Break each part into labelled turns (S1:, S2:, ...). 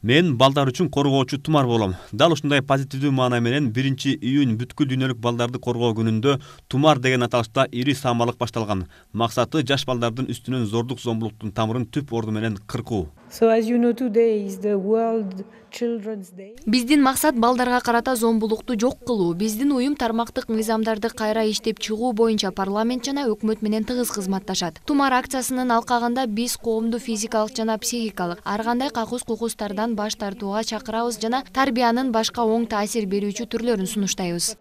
S1: Мен балдар үчүн коргоочу Тумар болом. Дал ушундай позитивдүү маана менен 1-июнь бүткүл дүйнөлүк балдарды коргоо күнүндө Тумар деген аталышта ири саамалык башталган. Максаты жаш балдардын үстүнөн зордук зомбулуктун тамырын түп орду менен кыркуу.
S2: Биздин максат балдарга карата зомбулукту жок кылуу. Биздин уюм тармактык мыйзамдарды кайра иштеп чыгуу боюнча парламент жана өкмөт менен тыгыз кызматташат. Тумар акциясынын алкагында биз коомду физикалык жана психикалык ар кандай какус-кукустардан баш тартууга чакырабыз жана тарбиянын башка оң таасир берүүчү түрлөрүн сунуштайбыз.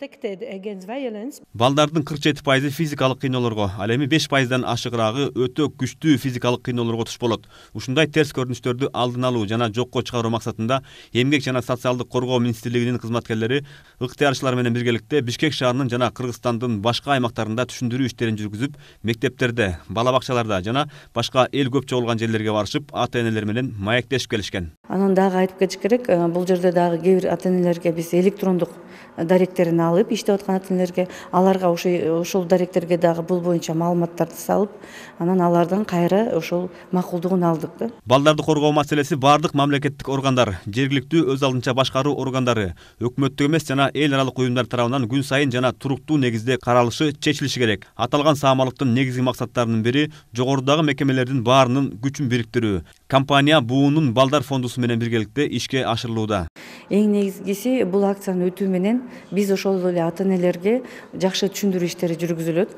S1: Балдардын 47% физикалык кыйноолорго, ал эми 5%дан ашыгыраагы өтө күчтүү физикалык кыйноолорго туш болот. Ушундай терс көрүнүштөрдү алдын алуу жана жокко чыгаруу максатында Эмгек жана социалдык коргоо министрлигинин кызматкерлери ыктыярчылар менен биргеликте Бишкек шаарынын жана Кыргызстандын башка аймактарында түшүндүрүү иштерин жүргүзүп, мектептерде, бала бакчаларда жана башка эл көп чогулган жерлерге барышып, ата-энелер менен маектешип келишкен.
S3: Анан дагы айтып кетиш керек, бул жерде дагы кээ бир ата-энелерге биз электрондук даректерин алып, иштеп аткан ата-энелерге аларга ошол даректерге дагы бул боюнча маалыматтарды салып, анан алардан кайра ошол макулдугун алдык да.
S1: Балдарды коргоо маселеси бардык мамлекеттик органдар, жергиликтүү өз алдынча башкаруу органдары, өкмөттүк эмес жана эл аралык уюмдар тарабынан күн сайын жана туруктуу негизде каралышы, чечилиши керек. Аталган саамалыктын негизги максаттарынын бири жогорудагы мекемелердин баарынын күчүн бириктирүү. Компания буунун балдар фондусу менен биргеликте ишке ашырылууда.
S3: Эң негизгиси бул акцияны өтүү менен биз ошол эле ата-энелерге жакшы түшүндүрүү иштери жүргүзүлөт.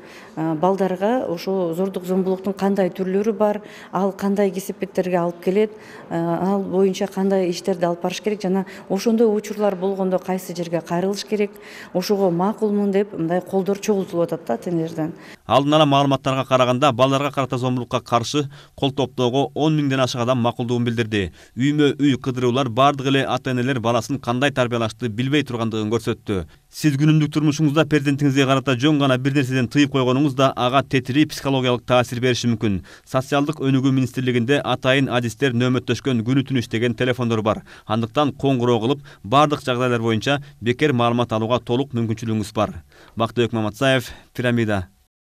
S3: Балдарга ошо зордук зомбулуктун кандай түрлөрү бар, ал кандай кесепеттерге алып келет, ал боюнча кандай иштерди алып барыш керек жана ошондой учурлар болгондо кайсы жерге кайрылыш керек, ошого макулмун деп мындай колдор чогултулуп атат да ата-энелерден.
S1: Алдын ала маалыматтарга караганда балдарга карата зомбулукка каршы кол топтоого 10 000ден ашык адам макулдугун билдирди. Үймө-үй кыдыруулар бардык эле ата-энелер баласын кандай тарбиялашты билбей тургандыгын көрсөттү. Сиз күнүмдүк турмушуңузда перзентиңизге карата жөн гана бир нерседен тыйып койгонуңуз да ага тетири психологиялык таасир бериши мүмкүн. Социалдык өнүгүү министрлигинде атайын адистер нөөмөттөшкөн күнү түнү иштеген телефондор бар. Андыктан коңгуроо кылып, бардык жагдайлар боюнча бекер маалымат алууга толук мүмкүнчүлүгүңүз бар. Бактыбек Маматсаев, Пирамида.